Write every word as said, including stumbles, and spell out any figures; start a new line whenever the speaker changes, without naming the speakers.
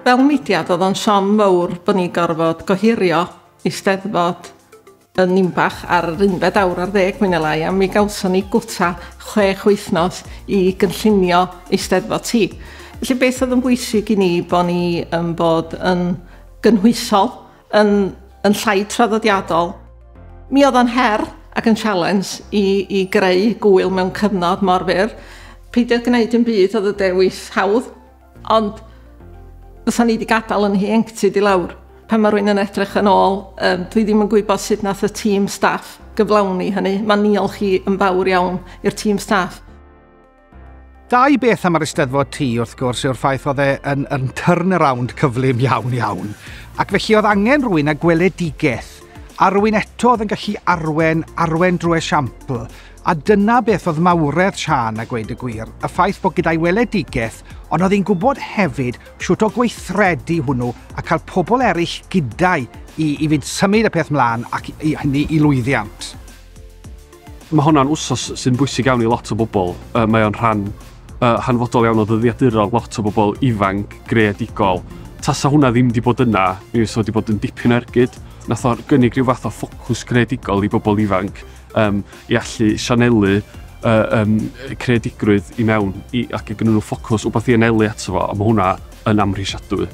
Fel mudiad, oedd o'n siom mawr bod ni'n gorfod gohirio Eisteddfod yn Nimbach ar yr unfed awr ar ddeg mwy neu lai, a mi gawson ni gwta chwech wythnos i gynllunio Eisteddfod T. Felly beth oedd yn bwysig i ni bod ni yn bod yn gynhwysol, yn, yn llai traddodiadol. Mi oedd o'n her ac yn challenge i, i greu gwyl mewn cyfnod mor fyr. Peidio gwneud yn byd oedd y dewis hawdd, ond fysa ni wedi gadael yn ieuenctid i lawr. Pan mae rhywun yn edrych yn ôl, um, dwi ddim yn gwybod sut nath y tîm staff gyflawni hynny. Mae'n niolch i yn fawr iawn i'r tîm staff.
Dau beth am yr Eisteddfod T, wrth gwrs, yw'r ffaith oedd e yn, yn turnaround cyflym iawn iawn. Ac felly oedd angen rhywun â gweledigaeth, a rhywun eto oedd yn gallu arwen, arwen drwy esiampl. A dyna beth oedd mawredd Siân, a gweud y gwir, y ffaith bod gyda'i weledigaeth, ond oedd hi'n gwybod hefyd siwt o gweithredu hwnnw a cael pobl eraill gyda'i i, i fynd symud y peth mlaen ac i, hynny i lwyddiant.
Mae hwnna'n wsos sy'n bwysig iawn i lot o bobl. Uh, mae o'n rhan uh, hanfodol iawn o ddyddiaduron lot o bobl ifanc, greadigol. Tasa hwnna ddim wedi bod yna, mi fysa wedi bod yn dipyn o ergyd. Nath o gynnig rhyw fath o ffocws greadigol i bobl ifanc um, i allu sianelu uh, um, creadigrwydd i mewn i, ac i gynnyn nhw ffocws, wbeth i anelu ato fo, a mae hwnna yn amhrisiadwy.